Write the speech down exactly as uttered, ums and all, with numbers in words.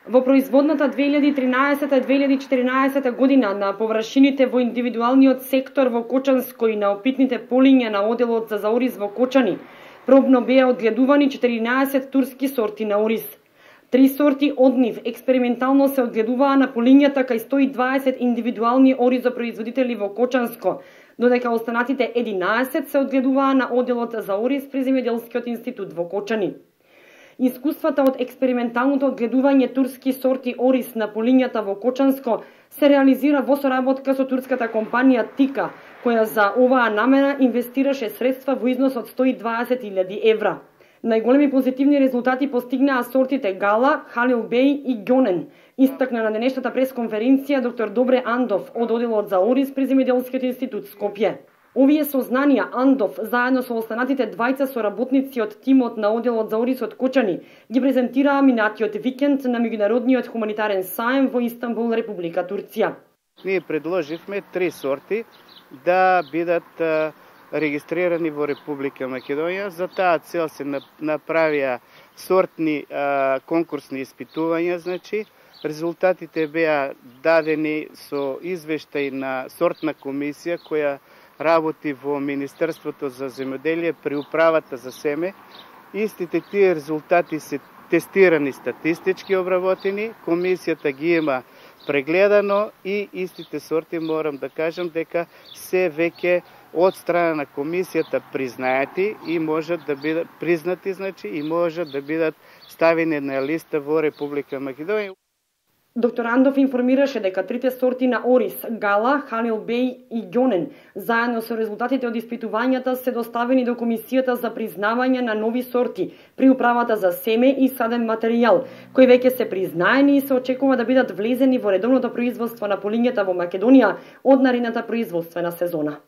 Во производната две илјади и тринаесета - две илјади и четиринаесета година на површините во индивидуалниот сектор во Кочанско и на опитните полиња на оделот за ориз во Кочани пробно беа одгледувани четиринаесет турски сорти на ориз. Три сорти од нив експериментално се одгледуваа на полињата кај сто и дваесет индивидуални оризопроизводители во Кочанско, додека останатите единаесет се одгледуваа на оделот за ориз при Земјоделскиот институт во Кочани. Искуствата од експерименталното одгледување турски сорти ориз на полињата во Кочанско се реализира во соработка со турската компанија Тика, која за оваа намера инвестираше средства во износ од сто и дваесет илјади евра. Најголеми позитивни резултати постигнаа сортите Гала, Халил Бей и Ѓонен, истакна на денешната пресконференција доктор Добре Андов од оделот за ориз при Земјоделскиот институт Скопје. Овие сознанија Андов, заедно со останатите двајца соработници од тимот на оделот за ориз од Кочани, ги презентираа минатиот викенд на меѓународниот хуманитарен саем во Истанбул, Република Турција. Ние предложивме три сорти да бидат регистрирани во Република Македонија. За таа цел се направија сортни а, конкурсни испитувања, значи резултатите беа дадени со извештај на сортна комисија која работи во Министерството за земјоделие при управата за семе. Истите тие резултати се тестирани статистички обработени, комисијата ги има прегледано и истите сорти морам да кажам дека се веќе од страна на комисијата признаети и можат да бидат признати, значи и можат да бидат ставени на листа во Република Македонија. Доктор Андов информираше дека трите сорти на ориз, Гала, Халил Бей и Ѓонен, заедно со резултатите од испитувањата се доставени до Комисијата за признавање на нови сорти при управата за семе и саден материјал, кои веќе се признаени и се очекува да бидат влезени во редовното производство на полињата во Македонија од наредната производствена сезона.